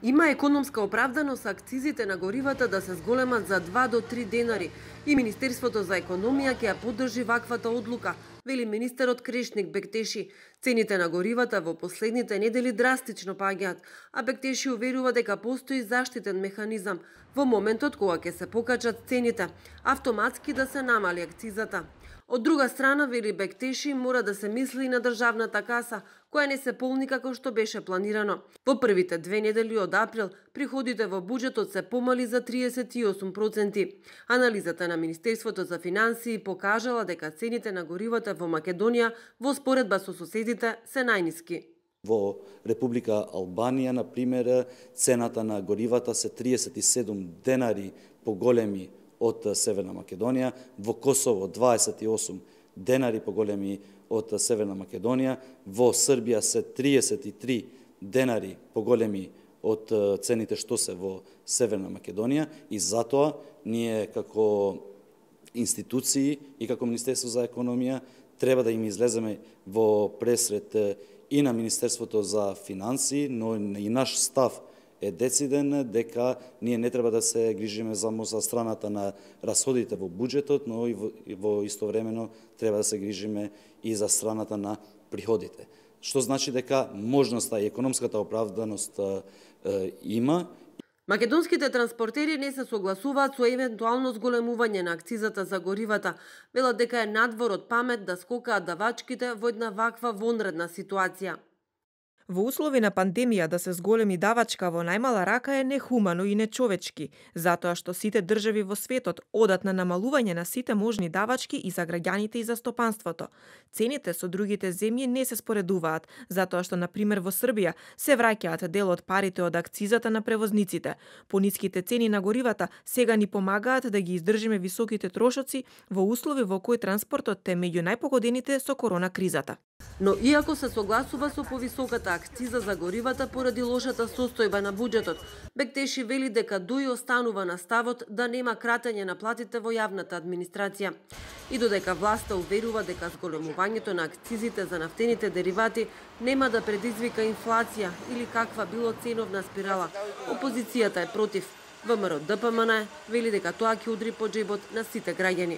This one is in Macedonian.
Има економска оправданост акцизите на горивата да се зголемат за 2 до 3 денари и Министерството за економија ќе ја поддржи ваквата одлука, вели министерот Крешник Бектеши. Цените на горивата во последните недели драстично паѓаат, а Бектеши уверува дека постои заштитен механизам во моментот кога ќе се покачат цените, автоматски да се намали акцизата. Од друга страна, вели Бектеши, мора да се мисли и на државната каса, која не се полни како што беше планирано. Во првите 2 недели од април, приходите во буџетот се помали за 38%. Анализата на Министерството за финансии покажала дека цените на горивата во Македонија во споредба со соседите се најниски. Во Република Албанија, на пример, цената на горивата се 37 денари поголеми од Северна Македонија, во Косово 28 денари поголеми од Северна Македонија, во Србија се 33 денари поголеми од цените што се во Северна Македонија, и затоа ние како институции и како Министерство за економија треба да им излеземе во пресред и на Министерството за финансии, но и наш став е дециден дека ние не треба да се грижиме само за страната на расходите во буџетот, но и во истовремено треба да се грижиме и за страната на приходите. Што значи дека можноста и економската оправданост има. Македонските транспортери не се согласуваат со евентуално зголемување на акцизата за горивата. Велат дека е надвор од памет да скокаат давачките во една ваква вонредна ситуација. Во услови на пандемија да се зголеми давачка во најмала рака е нехумано и нечовечки, затоа што сите држави во светот одат на намалување на сите можни давачки и за граѓаните и за стопанството. Цените со другите земји не се споредуваат, затоа што, например, во Србија се враќаат дел од парите од акцизата на превозниците. Пониските цени на горивата сега ни помагаат да ги издржиме високите трошоци во услови во кои транспортот е меѓу најпогодените со корона кризата. Но иако се согласува со повисоката акциза за горивата поради лошата состојба на буџетот, Бектеши вели дека ДУИ останува на ставот да нема кратење на платите во јавната администрација. И додека власта уверува дека зголемувањето на акцизите за нафтените деривати нема да предизвика инфлација или каква било ценовна спирала, опозицијата е против. ВМРО ДПМН вели дека тоа ќе удри по џебот на сите граѓани.